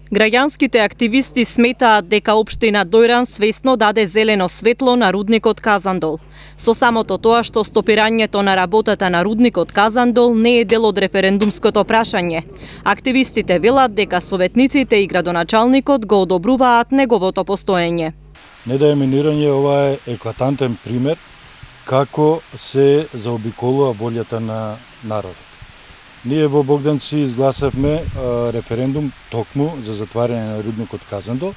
Граѓанските активисти сметаат дека општина Дојран свесно даде зелено светло на рудникот Казандол. Со самото тоа што стопирањето на работата на рудникот Казандол не е дел од референдумското прашање. Активистите велат дека советниците и градоначалникот го одобруваат неговото постоење. Не да е минирање, ова е еклатантен пример како се заобиколува волјата на народот. Ние во Богданци изгласавме референдум токму за затварање на рудникот Казандол.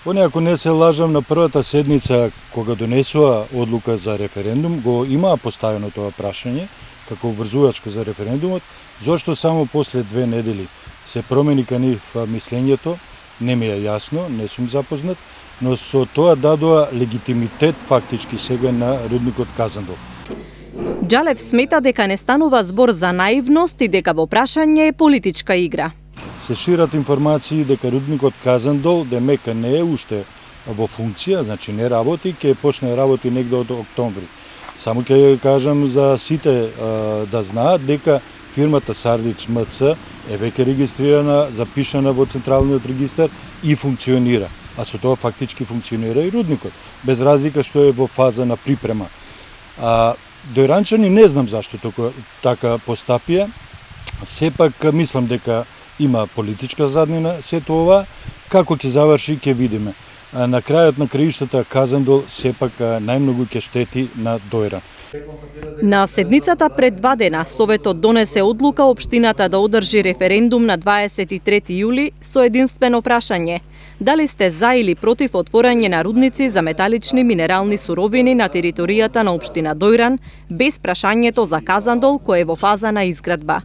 Поне ако не се лажам, на првата седница кога донесува одлука за референдум, го имаа поставено тоа прашање како врзувачка за референдумот, зошто само после 2 недели се промени кај нив мислењето, не ми е јасно, не сум запознат, но со тоа дадоа легитимитет фактички сега на рудникот Казандол. Џалев смета дека не станува збор за наивност и дека во прашање е политичка игра. Се шират информации дека рудникот Казандол демека не е уште во функција, значи не работи, ќе почне работи негде од октомври. Само ќе кажам за сите да знаат дека фирмата Сардич МЦ е веќе регистрирана, запишана во Централниот регистар и функционира. А со тоа фактички функционира и рудникот, без разлика што е во фаза на припрема. Дојранчани не знам зашто така постапија, сепак мислам дека има политичка заднина сето ова, како ќе заврши ќе видиме. На крајот на краиштата Казандол сепак најмногу ќе штети на Дојран. На седницата пред 2 дена Советот донесе одлука општината да одржи референдум на 23 јули со единствено прашање: дали сте за или против отворање на рудници за металични минерални суровини на територијата на општина Дојран, без прашањето за Казандол кој е во фаза на изградба.